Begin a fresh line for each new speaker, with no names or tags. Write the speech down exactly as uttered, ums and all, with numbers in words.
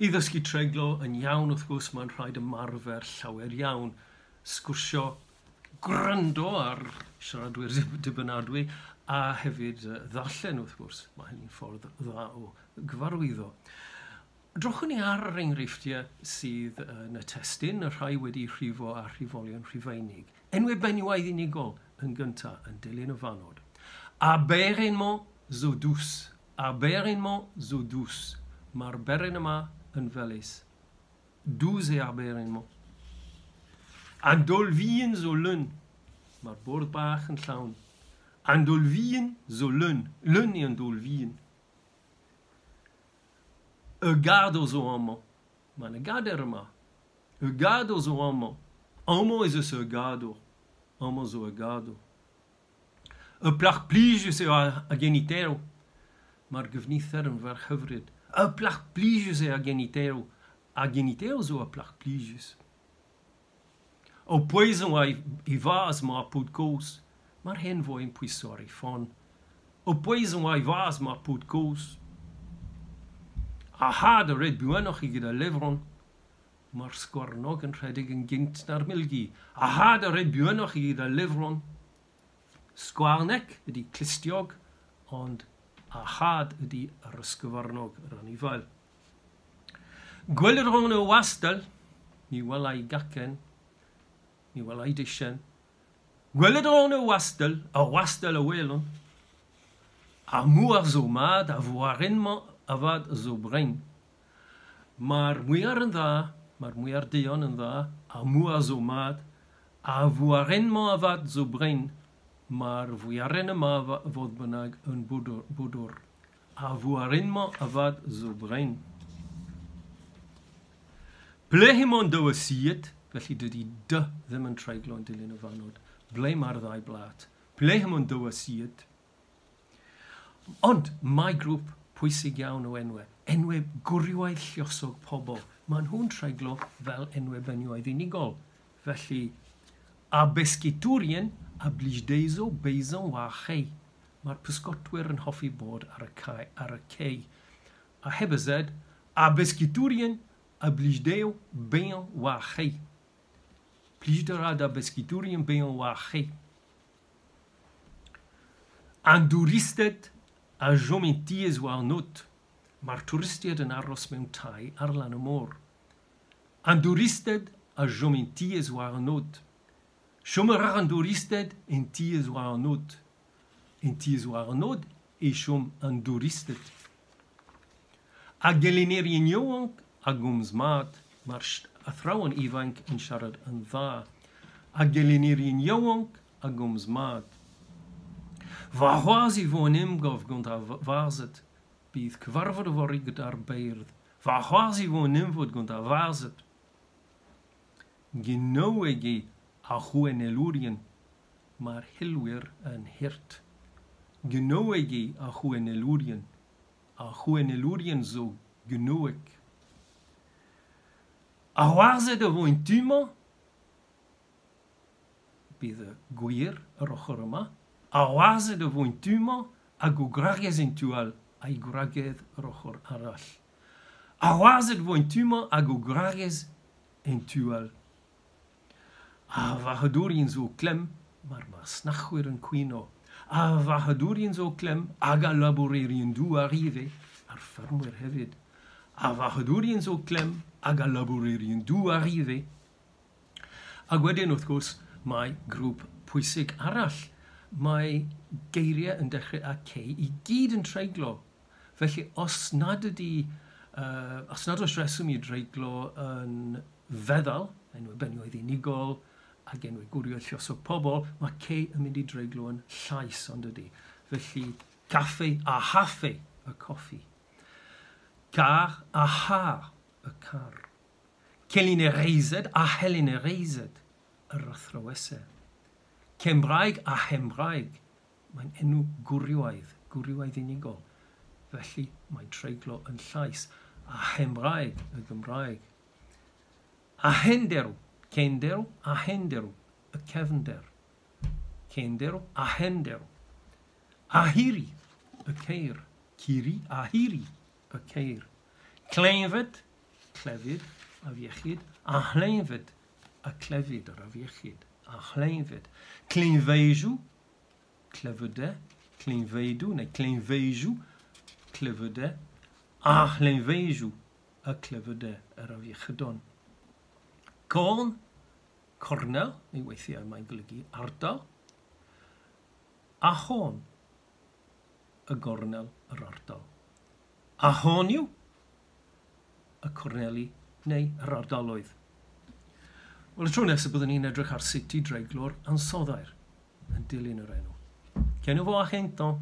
I ddysgu treiglo yn iawn, wrth gwrs, mae'n rhaid ymarfer llawer iawn. Sgwrsio, gwrando ar siaradwyr dibynadwy, a hefyd ddarllen, wrth gwrs. Mae hynny'n ffordd dda o gyfarwyddo. Drochwn ni ar yr enghreifftiau sydd yn y testun, y rhai wedi rhifo a rhifolion Rhufeinig. Enwau benywaidd unigol yn gyntaf yn dilyn y fannod. Ar beren-mañ zo dous. Ar beren-mañ zo dous. Mae'r beren yma yn felys. Dous eo ar beren-mañ. An daol vihan zo leun. Mae'r bwrdd bach yn llawn. An daol vihan zo leun. Leun eo an daol vihan. Ur gador zo amañ. Mae 'na gader yma. Ur gador zo amañ. Amañ ez eus ur gador. Amañ zo ur gador. Ur plac'h plijus eo ar geniterv. Mae'r gyfnither yn ferch hyfryd. Ur plac'h plijus eo ar geniterv. Ar geniterv zo ur plac'h plijus. O pouezañ war e vazh emañ ar paotr kozh. Mae'r hen foi yn pwyso ar ei ffon. O pouezañ war e vazh emañ ar paotr kozh. Ar c'had a red buanoc'h eget al levron. Mae'r sgwarnog yn rhedeg yn gynt na'r milgi. Ar c'had a red buanoc'h eget al levron. Sgwarneg ydy clustiog, ond ar c'had ydy yr ysgyfarnog, yr anifail. Gwelet a ran y wastell, mi wela i gacen, mi wela i dishen. Gwelet a ran y wastell, y wastell a welan. Ar mouar zo mat, ar vouarenn-mañ avat zo brein. Mae'r mwyar yn dda, mae'r mwyar duon yn dda, ar mouar zo mat, ar vouarenn-mañ avat zo brein. Mae'r fwyaren yma fodd bynnag yn bwdwr. Ar vouarenn-mañ avat zo brein. Ble emañ an daou asied, felly dydy dy ddim yn treiglo yn dilyn y fannod. Ble mae'r ddau blat? Ble emañ an daou asied? Ond mae grŵp pwysig iawn o enwau. Enwau gwrywaidd lluosog pobl. Maen nhw'n treiglo fel enwau benywaidd unigol. Felly, ar besketourien a blij dezho bezañ war ar c'hae. Mae'r pysgotwyr yn hoffi bod ar y, cae, ar y cei. A heb y Z, ar besketourien a blij dezho bezañ war ar c'hae. Plijout a ra d'ar besketourien bezañ war ar c'hae. An douristed a chom en tiez war an aod. Mae'r twristiaid yn aros mewn tai ar lan y môr. An douristed a chom en tiez war an aod. Chom a ra an douristed en tiez war an aod. En tiez war an aod e chom an douristed. Ar gelennerien yaouank a gomz mat, mae'r athrawon ifanc yn siarad yn dda. Ar gelennerien yaouank a gomz mat. Warc'hoazh e vo un emgav gant ar varzhed. Bydd cyfarfod yfory gyda'r beirdd. Warc'hoazh e vo un emvod gant ar varzhed. Genoweg eo ar c'houennelourien. Mae'r hilwyr yn hurt. Genoweg eo ar c'houennelourien. Ar c'houennelourien zo genoweg. Ar warzhed a vo en tu-mañ. Bydd y gwir yr ochr yma. Ar warzhed a vo en tu-mañ hag o gwragez en tu all, a'i gwragedd yr ochr arall. Ar warzhed a vo en tu-mañ hag o gwragez en tu all. Ar varc'hadourien zo o klemm, mae'r masnachwyr yn cwyno. Ar varc'hadourien zo o klemm hag al labourerien douar ivez, ar feurmwyr hefyd. Ar varc'hadourien zo o klemm hag al labourerien douar ivez. Ac wedyn, wrth gwrs, mae grŵp pwysig arall. Mae geiriau yn dechrau â C i gyd yn treiglo. Felly, os nad ydy, uh, os nad oes reswm i dreiglo yn feddal, enwau benywaidd unigol, ac enwau gwrywaidd lluosog pobl, mae C yn mynd i dreiglo yn llais, ond ydy. Felly, caffe a haffe, y coffi. Car a har, y car. Kelennerezed a helennerezed, yr athrawesau. Cymraeg a Hembraeg, mae'n enw gwrywaidd, gwrywaidd unigol. Felly mae'n treiglo yn llais. A Hembraeg, y Gymraeg. A henderw, cenderw, a henderw, y cefnder. Cenderw, a henderw. A hiri, y ceir. Ciri, a hiri, y ceir. Cleñved, clefyd, afiechyd, a chleñved, y clefyd, yr afiechyd, a chleñved. Kleñvedoù, clefydau, kleñvedoù, neu kleñvedoù, clefydau, a chleñvedoù, y clefydau, yr afiechydon. Corn, cornel, neu weithiau mae'n golygu ardal, a chorn, y gornel, yr ardal. A chornioù, y corneli neu yr ardaloedd. Wel, y tro nesaf byddwn ni'n edrych ar sut i dreiglo'r ansoddair yn dilyn yr enw. Kenavo ar gentañ.